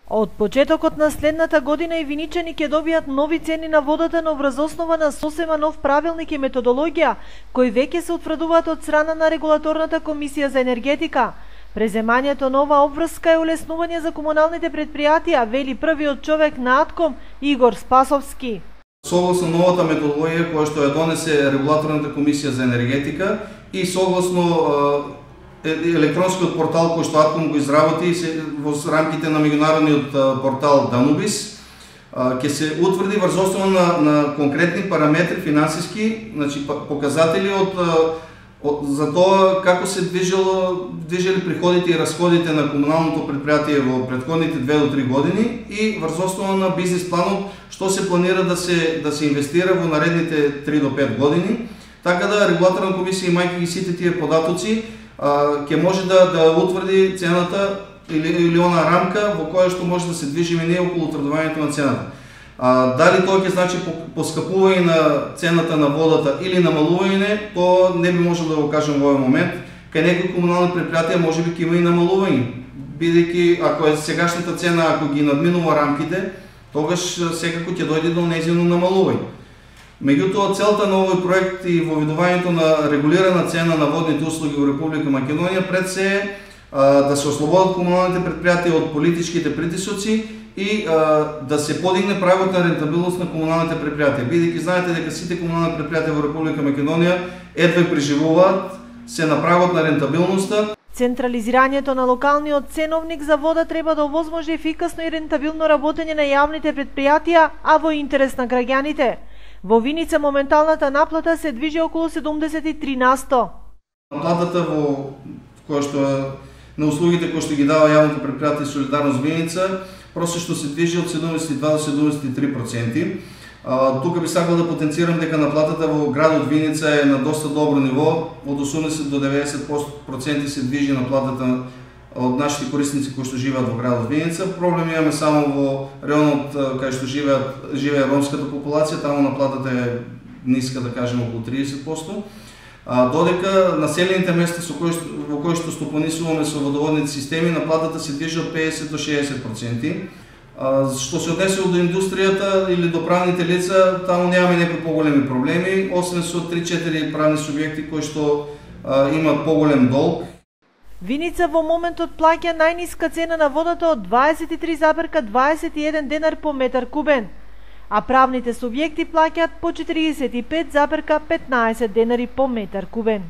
Од почетокот на следната година и виничани ќе добијат нови цени на водата, но врз основа на сосема нов правилник и методологија, кои веќе се утврдуваат од страна на Регулаторната комисија за енергетика. Преземањето нова обврска е улеснување за комуналните предпријатија, вели првиот човек на АТКОМ Игор Спасовски. Согласно новата методологија која што ја донесе Регулаторната комисија за енергетика и согласно електронскиот портал кој што АТКОМ го изработи во рамките на меѓународниот портал Данубис, ќе се утврди врз основа на конкретни параметри финансиски, значи показатели за тоа како се движели приходите и расходите на комуналното предпријатие во претходните 2 до 3 години и врз основа на бизнис планот што се планира да се инвестира во наредните 3 до 5 години, така да Регулаторна комисија, имајќи ги сите тие податоци, ќе може да утврди цената или она рамка во која што може да се движиме ние околу утврдувањето на цената. Дали тоа ќе значи поскапување на цената на водата или намалување, тоа не би можел да го кажам во овој момент. Кај некои комунални предпријатија можеби ќе има и намалување, бидејќи ако е сегашната цена, ако ги надминува рамките, тогаш секако ќе дојде до нејзино намалување. Меѓутоа, целта на овој проект и воведувањето на регулирана цена на водните услуги во Република Македонија пред се е да се ослободат комуналните предпријатија од политичките притисоци и да се подигне прагот на рентабилност на комуналните предпријатија. Бидејќи знаете дека сите комунални предпријатија во Република Македонија едва преживуваат, се на прагот на рентабилноста. Централизирањето на локалниот ценовник за вода треба да овозможи ефикасно и рентабилно работење на јавните предпријатија, а во интерес на граѓаните. Во Виница моменталната наплата се движи околу 73%. Наплатата која што на услугите кои што ги дава јавното предпријатие Солидарност Виница просечно се движи од 72 до 73%. Тука би сакал да потенцирам дека наплатата во градот Виница е на доста добро ниво, од 80 до 90% се движи наплатата од нашите корисници кои што живеат во градот Виница. Проблем имаме само во районот кај што живее ромската популација, таму наплатата е ниска, да кажем околу 30%. Додека населените места во кои што стопанисуваме со водоводните системи, наплатата се движи од 50 до 60%. Што се однесува до индустријата или до правните лица, таму немаме некои поголеми проблеми, освен со 3-4 правни субјекти кои што имаат поголем долг. Виница во моментот плаќа најниска цена на водата од 23,21 денар по метар кубен, а правните субјекти плаќаат по 45,15 денари по метар кубен.